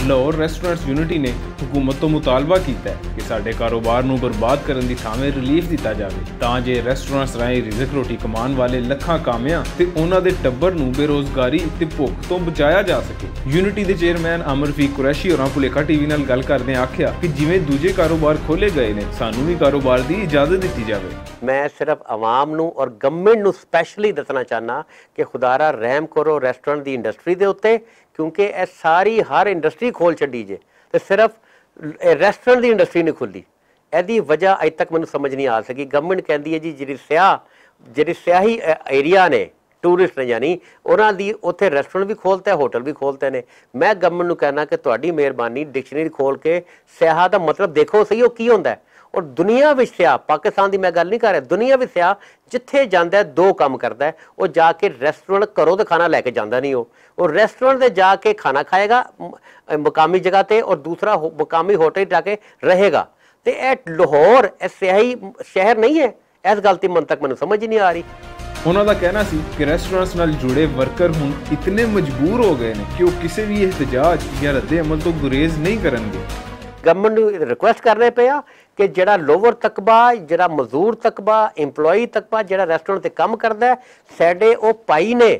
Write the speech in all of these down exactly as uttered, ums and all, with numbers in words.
لاہور ریسٹورنٹس یونٹی نے حکومت توں مطالبہ کیتا ہے کہ ساڈے کاروبار نوں برباد کرن دی تھاویں ریلیف دتا جاوے، تاں جے ریسٹورنٹس راہیں رزق روٹی کمان والے لکھاں کامیاں تے انہاں دے ٹبر نوں بے روزگاری تے بھوک توں بچایا جا سکے۔ یونٹی دے چیئرمین امر فی قریشی اور پولیکھا ٹی وی نال گل کردے آکھیا کہ جیویں دوجے کاروبار کھولے گئے نے، سانوں وی کاروبار دی اجازت دتی جاوے۔ میں صرف عوام نوں اور گورنمنٹ نوں سپیشلی دسنا چاہنا کہ خدا را رحم کرو ریسٹورنٹ دی انڈسٹری دے اُتے، کیونکہ اے ساری ہر انڈسٹری کھول چھڈی جے، تے صرف اے ریسٹورنٹ دی انڈسٹری نہیں کھلدی۔ ایہدی وجہ اج تک مینوں سمجھ نہیں آ سکی۔ گورنمنٹ کہندی ہے جی، جڑی سیاہ جڑی سیاہی ایریا نے، ٹورسٹ نے، یعنی انہاں دی اوتھے ریسٹورنٹ بھی کھولتا ہے، ہوٹل بھی کھولتے نے۔ میں گورنمنٹ نوں کہنا کہ تہاڈی مہربانی، ڈکشنری کھول کے سیاح دا مطلب دیکھو صحیح، او کی ہوندا ہے۔ اور دنیا وچ سیاح، پاکستان دی میں گل نہیں کر رہا، دنیا وچ سیاح جتھے جاندا ہے، دو کم کردا ہے۔ او جا کے ریسٹورنٹ، گھروں تے کھانا لے کے جاندا نہیں، او او ریسٹورنٹ تے جا کے کھانا کھائے گا، م- مقامی جگہ تے، اور دوسرا ہو- مقامی ہوٹل جا کے رہے گا۔ تے اے لاہور، اے سیاحی شہر نہیں ہے۔ اس گل تے من تک مینوں سمجھ ہی نہیں آ رہی۔ انہاں دا کہنا سی کہ ریسٹورنٹس نال جڑے ورکر ہن اتنے مجبور ہو گئے نے کہ وہ کسی بھی احتجاج یا رد عمل تو گریز نہیں کرن گے۔ گورنمنٹ نوں ریکویسٹ کرنے پیا کہ جڑا لوور طبقہ، جڑا مزدور طبقہ، ایمپلائی طبقہ، جڑا ریسٹورنٹ تے کم کردا ہے، ساڈے او پائی نے،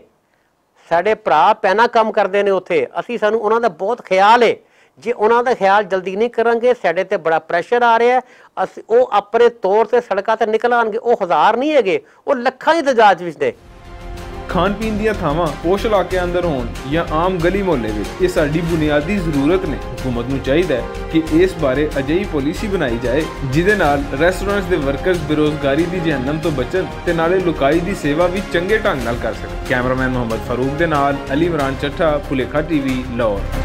ساڈے بھرا پینا کم کردے نے اوتھے، اسی، سانوں انہاں دا بہت خیال ہے۔ جے انہاں دا خیال جلدی نہیں کرن گے، ساڈے تے بڑا پریشر آ رہا ہے۔ اسی، او اپنے طور تے سڑکاں تے نکل آن گے، او ہزار نہیں ہے گے، او لکھاں دی تعداد وچ نے۔ کھان پین دیاں تھاواں پوش علاقے اندر ہون یا عام گلی محلے وچ، یہ ساڈی بنیادی ضرورت نے۔ حکومت نوں چاہیدا ہے کہ اس بارے اجہی پالیسی بنائی جائے، جس دے نال ریسٹورنٹس دے ورکرز بے روزگاری دی جہنم تو بچن تے نالے لکائی دی سیوا وی چنگے ڈھنگ نال کر سکن۔ کیمرامین محمد فاروق دے نال علی عمران چٹھا، پھلیکھا ٹی وی، لاہور۔